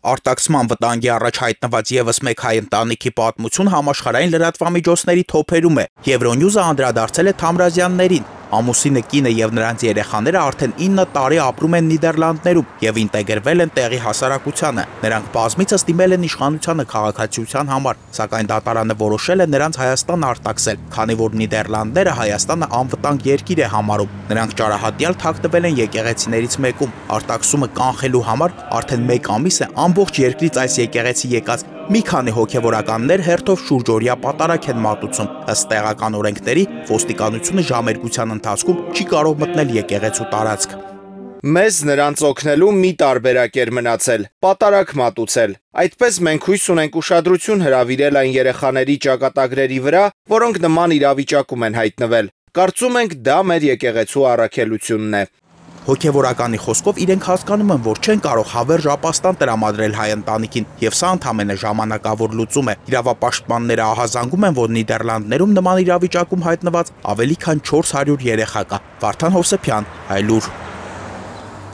Արտաքսման վտանգի առաջ հայտնված ևս մեկ հայ ընտանիքի պատմություն համաշխարհային լրատվամիջոցների թոփերում է։ Euronews-ը անդրադարձել է Թամրազյաններին։ Ամուսինը, կինը եւ նրանց երեխաները արդեն 9 տարի ապրում են Նիդերլանդներում եւ ինտեգրվել են տեղի հասարակությանը։ Նրանք բազմիցս դիմել են իշխանությանը քաղաքացիության համար, սակայն դատարանը որոշել է նրանց Հայաստան արտաքսել, քանի որ Նիդերլանդները Հայաստանը անվտանգ երկիր է համարում։ Նրանք ճարահատյալ թաքնվել են եկեղեցիներից մեկում։ Արտաքսումը կանխելու համար արդեն 1 ամիս է ամբողջ երկրից այս եկեղեցի եկած մի քանի հոգևորականներ հերթով շուրջօրյա պատարակ են մատուցում։ Ըստ տեղական օրենքների, ոստիկանությունը ժամերգության ընթացքում չի կարող մտնել եկեղեցու տարածք։ Մեզ նրանց օգնելու մի տարբերակ էր մնացել՝ պատարակ մատուցել։ Այդպես մենք հույս ունենք ուշադրություն հրավիրել այն երեխաների ճակատագրերի վրա, որոնք նման իրավիճակում են հայտնվել։ Կարծում ենք, դա մեր եկեղեցու առաքելությունն է։ Հոգևորականի խոսքով իրենք հասկանում են, որ չեն կարող հավերժ ապաստան տրամադրել հայ ընտանիքին, եւ սա ընդամենը ժամանակավոր լուծում է։ Իրավապաշտպանները ահազանգում են, որ Նիդերլանդներում նման իրավիճակում հայտնված ավելի քան 400 երեխա կա։ Վարդան Հովսեփյան, Հայլուր։